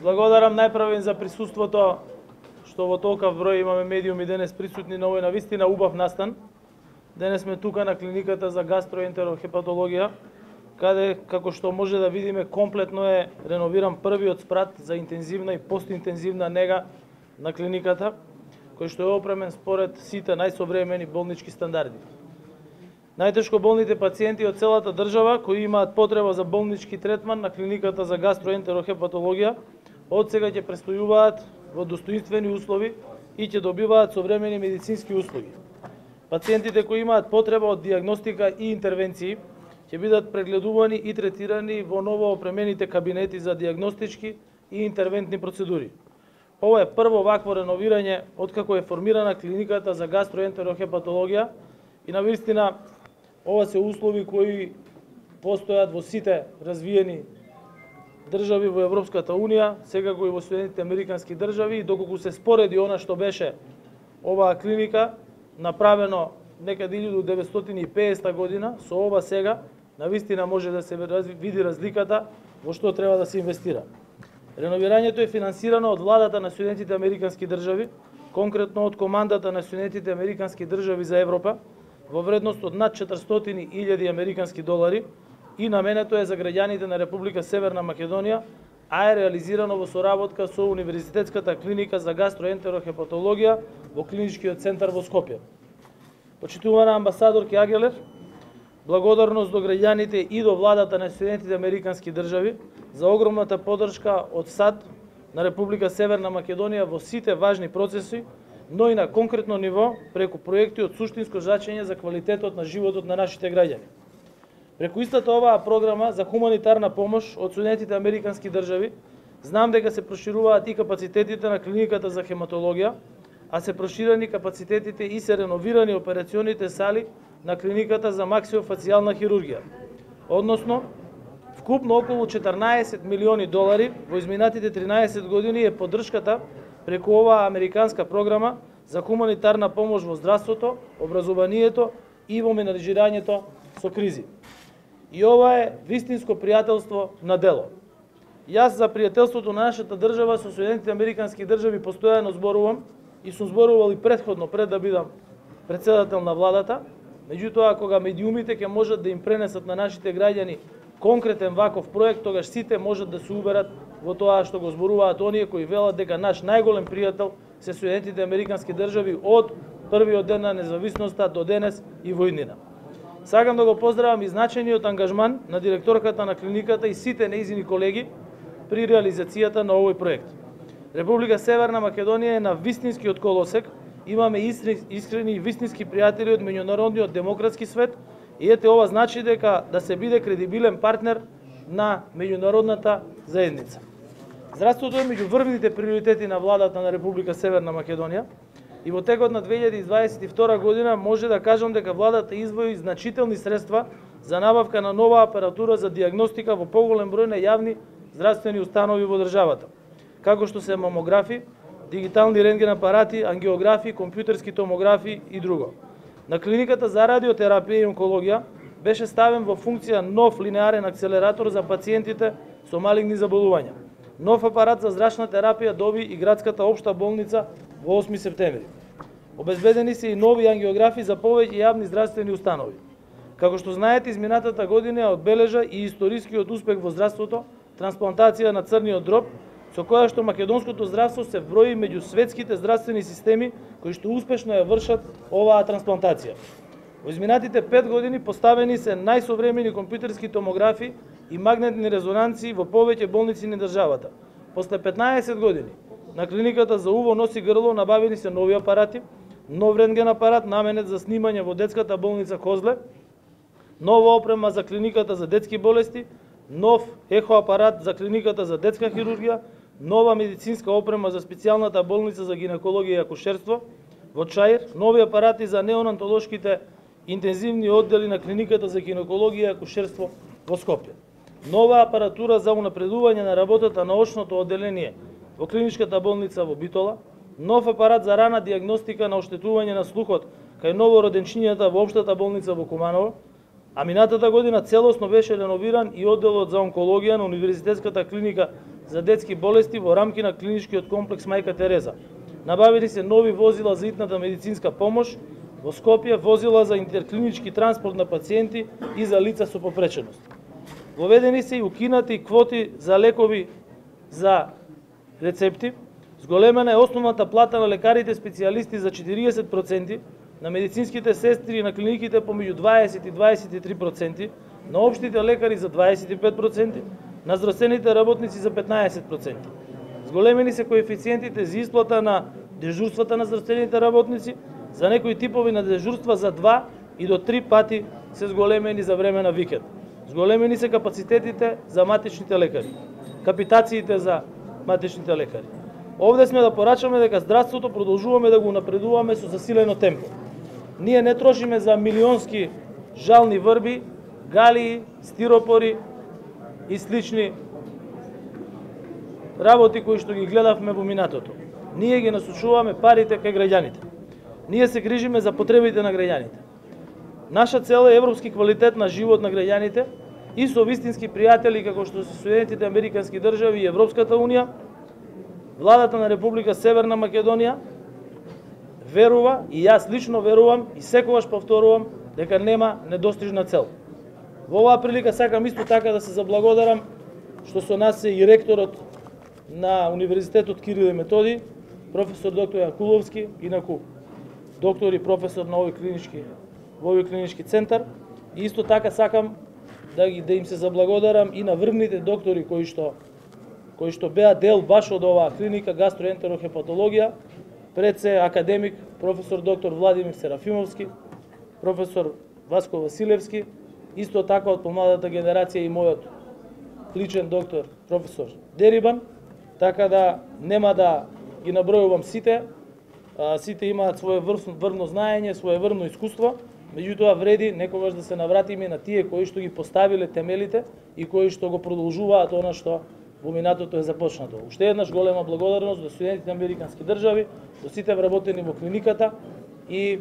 Благодарам најпрво за присуството, што во толков број имаме медиуми денес присутни на овој навистина убав настан. Денес сме тука на клиниката за гастроентерохепатологија, каде, како што може да видиме, комплетно е реновиран првиот спрат за интензивна и постинтензивна нега на клиниката, кој што е опремен според сите најсовремени болнички стандарди. Најтешко болните пациенти од целата држава кои имаат потреба за болнички третман на клиниката за гастроентерохепатологија од сега ќе престојуваат во достоинствени услови и ќе добиваат современи медицински услуги. Пациентите кои имаат потреба од диагностика и интервенции ќе бидат прегледувани и третирани во ново опремените кабинети за диагностички и интервентни процедури. Ова е прво вакво реновирање откако е формирана клиниката за гастроентерохепатологија и навистина ова се услови кои постојат во сите развиени држави во Европската Унија, секако и во Соединетите Американски држави, и доколку се спореди она што беше оваа клиника направено некаде 1950 година со ова сега, навистина може да се види разликата во што треба да се инвестира. Реновирањето е финансирано од владата на Соединетите Американски држави, конкретно од командата на Соединетите Американски држави за Европа, во вредност од над 400.000 американски долари и наменето е за граѓаните на Република Северна Македонија, а е реализирано во соработка со Универзитетската клиника за гастроентерохепатологија во клиничкиот центар во Скопје. Почитувана амбасадорки Агелер, благодарност до граѓаните и до владата на Соединетите Американски држави за огромната поддршка од САД на Република Северна Македонија во сите важни процеси, но и на конкретно ниво преку проекти од суштинско значење за квалитетот на животот на нашите граѓани. Преку истата оваа програма за хуманитарна помош од Соединетите Американски држави, знам дека се прошируваат и капацитетите на клиниката за хематологија, а се проширени капацитетите и се реновирани операционите сали на клиниката за максиофацијална хирургија. Односно, вкупно околу 14 милиони долари во изминатите 13 години е поддршката преку оваа американска програма за хуманитарна помош во здравството, образованието и во менаџирањето со кризи. И ова е вистинско пријателство на дело. Јас за пријателството на нашата држава со Соединетите Американски држави постојано зборувам и сум зборувал и претходно пред да бидам претседател на владата, меѓутоа кога медиумите ќе можат да им пренесат на нашите граѓани конкретен ваков проект, тогаш сите можат да се уверат во тоа што го зборуваат оние кои велат дека наш најголем пријател се Соединетите Американски држави од првиот ден на независноста до денес и во иднина. Сакам да го поздравам и значениот ангажман на директорката на клиниката и сите нејзини колеги при реализацијата на овој проект. Република Северна Македонија е на вистинскиот колосек, имаме искрени и вистински пријатели од меѓународниот демократски свет и ете ова значи дека да се биде кредибилен партнер на меѓународната заедница. Здравството е меѓу врвните приоритети на владата на Република Северна Македонија и во текот на 2022 година може да кажам дека владата издвои значителни средства за набавка на нова апаратура за диагностика во поголем број на јавни здравствени установи во државата, како што се мамографи, дигитални рентген апарати, ангиографи, компјутерски томографи и друго. На клиниката за радиотерапија и онкологија беше ставен во функција нов линеарен акцелератор за пациентите со малигни заболувања. Нов апарат за зрачна терапија доби и градската општа болница во 8 септември. Обезбедени се и нови ангиографи за повеќе јавни здравствени установи. Како што знаете, изминатата година одбележа и историскиот успех во здравството, трансплантација на црниот дроб, со која што македонското здравство се брои меѓу светските здравствени системи кои што успешно ја вршат оваа трансплантација. Во изминатите 5 години поставени се најсовремени компјутерски томографи и магнетни резонанции во повеќе болници на државата. После 15 години на клиниката за уво, нос и грло набавени се нови апарати, нов рентген апарат наменет за снимање во детската болница Козле, нова опрема за клиниката за детски болести, нов ехоапарат за клиниката за детска хирургија, нова медицинска опрема за специјалната болница за гинекологија и акушерство во Чаир, нови апарати за неонатолошките интензивни оддели на клиниката за гинекологија и акушерство во Скопје. Нова апаратура за унапредување на работата на очното одделение во клиничката болница во Битола, нов апарат за рана диагностика на оштетување на слухот кај новороденчињата во општата болница во Куманово, а минатата година целосно беше реновиран и одделот за онкологија на Универзитетската клиника за детски болести во рамки на клиничкиот комплекс Мајка Тереза. Набавени се нови возила за итната медицинска помош, во Скопје возила за интерклинички транспорт на пациенти и за лица со попреченост. Воведени се и укинати квоти за лекови за рецепти, зголемена е основната плата на лекарите специјалисти за 40%, на медицинските сестри и на клиниките помеѓу 20 и 23%, на општите лекари за 25%, на здравствените работници за 15%. Зголемени се коефициентите за исплата на дежурствата на здравствените работници, за некои типови на дежурства за 2 и до 3 пати се зголемени за време на викенд. Зголемени се капацитетите за матичните лекари, капитациите за матичните лекари. Овде сме да порачаме дека здравството продолжуваме да го напредуваме со засилено темпо. Ние не трошиме за милионски жални врби, галии, стиропори и слични работи кои што ги гледавме во минатото. Ние ги насочуваме парите кај граѓаните. Ние се грижиме за потребите на граѓаните. Наша цел е европски квалитет на живот на граѓаните и со вистински пријатели како што се Соединетите Американски држави и Европската Унија. Владата на Република Северна Македонија верува и јас лично верувам и секогаш повторувам дека нема недостижна цел. Во оваа прилика сакам исто така да се заблагодарам што со нас е и ректорот на Универзитетот Кирил и Методи, професор доктор Јанкуловски, инаку доктор и професор на овој клинички центар. И исто така сакам да им се заблагодарам и на врвните доктори кои што беа дел баш од оваа клиника гастроентерохепатологија, пред се академик професор доктор Владимир Серафимовски, професор Васко Василевски, исто така од помладата генерација и мојот личен доктор професор Дерибан, така да нема да ги набројувам сите. Сите имаат свое врвно знаење, свое врвно искуство, меѓутоа вреди некогаш да се навратиме на тие кои што ги поставиле темелите и кои што го продолжуваат она што во минатото е започнато. Уште еднаш голема благодарност до Соединетите Американски држави, до сите вработени во клиниката и,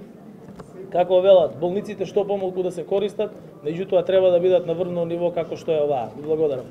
како велат, болниците што помалку да се користат, меѓутоа треба да бидат на врвно ниво како што е оваа. Ви благодарам.